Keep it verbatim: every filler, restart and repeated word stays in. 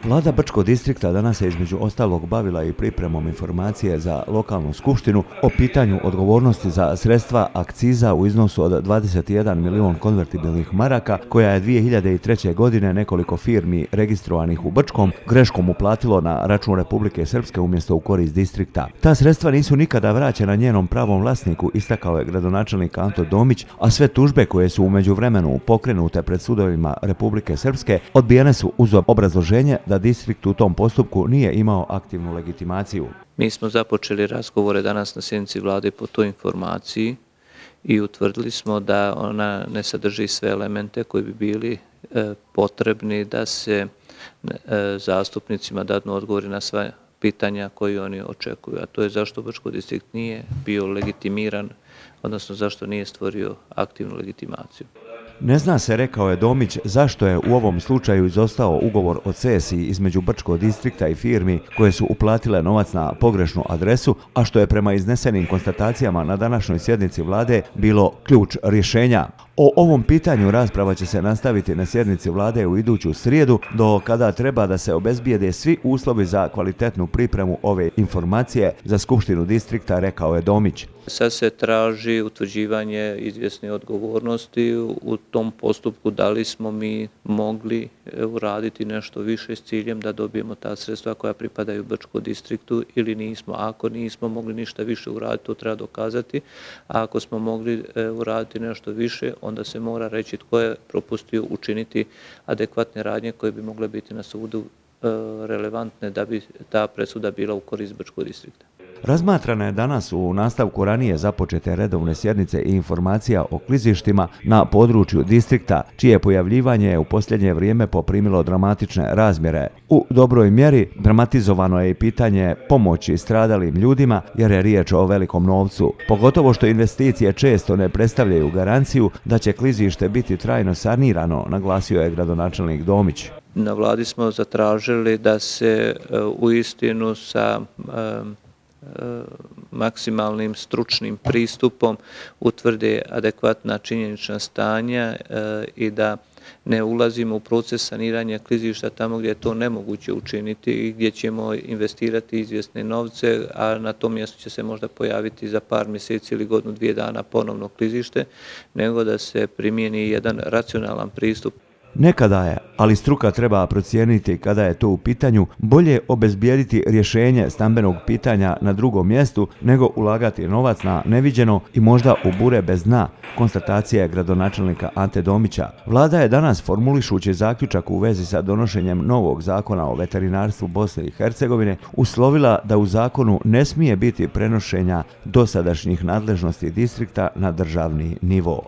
Vlada Brčkog distrikta danas se između ostalog bavila i pripremom informacije za lokalnu skupštinu o pitanju odgovornosti za sredstva akciza u iznosu od dvadeset jedan milion konvertibilnih maraka koja je dvije hiljade treće. godine nekoliko firmi registrovanih u Brčkom greškom uplatilo na račun Republike Srpske umjesto u korist distrikta. Ta sredstva nisu nikada vraćena njenom pravom vlasniku, istakao je gradonačelnik Anto Domić, a sve tužbe koje su u međuvremenu pokrenute pred sudovima Republike Srpske odbijene su uz obrazloženje da distrikt u tom postupku nije imao aktivnu legitimaciju. Mi smo započeli razgovore danas na sjednici vlade po toj informaciji i utvrdili smo da ona ne sadrži sve elemente koji bi bili e, potrebni da se e, zastupnicima dadnu odgovori na sva pitanja koje oni očekuju. A to je zašto Brčko distrikt nije bio legitimiran, odnosno zašto nije stvorio aktivnu legitimaciju. Ne zna se, rekao je Domić, zašto je u ovom slučaju izostao ugovor o cesiji između Brčkog distrikta i firmi koje su uplatile novac na pogrešnu adresu, a što je prema iznesenim konstatacijama na današnjoj sjednici vlade bilo ključ rješenja. O ovom pitanju rasprava će se nastaviti na sjednici vlade u iduću srijedu, do kada treba da se obezbijede svi uslovi za kvalitetnu pripremu ove informacije za skupštinu distrikta, rekao je Domić. Sad se traži utvrđivanje izvjesne odgovornosti u tom postupku, da li smo mi mogli uraditi nešto više s ciljem da dobijemo ta sredstva koja pripadaju Brčkom distriktu ili nismo. Ako nismo mogli ništa više uraditi, to treba dokazati, a ako smo mogli uraditi nešto više, onda se mora reći tko je propustio učiniti adekvatne radnje koje bi mogle biti na sudu relevantne da bi ta presuda bila u korist Brčkog distrikta. Razmatrana je danas u nastavku ranije započete redovne sjednice i informacija o klizištima na području distrikta, čije pojavljivanje je u posljednje vrijeme poprimilo dramatične razmjere. U dobroj mjeri dramatizovano je i pitanje pomoći stradalim ljudima jer je riječ o velikom novcu, pogotovo što investicije često ne predstavljaju garanciju da će klizište biti trajno sanirano, naglasio je gradonačelnik Domić. Na vladi smo zatražili da se uistinu sa maksimalnim stručnim pristupom utvrde adekvatna činjenična stanja i da ne ulazimo u proces saniranja klizišta tamo gdje je to nemoguće učiniti i gdje ćemo investirati izvjesne novce, a na tom mjestu će se možda pojaviti za par mjeseci ili godinu dvije dana ponovno klizište, nego da se primijeni jedan racionalan pristup. Nekada je, ali struka treba procijeniti kada je to u pitanju, bolje obezbijediti rješenje stambenog pitanja na drugom mjestu nego ulagati novac na neviđeno i možda u bure bez dna, konstatacija je gradonačelnika Ante Domića. Vlada je danas, formulišući zaključak u vezi sa donošenjem novog zakona o veterinarstvu Bosne i Hercegovine, uslovila da u zakonu ne smije biti prenošenja dosadašnjih nadležnosti distrikta na državni nivo.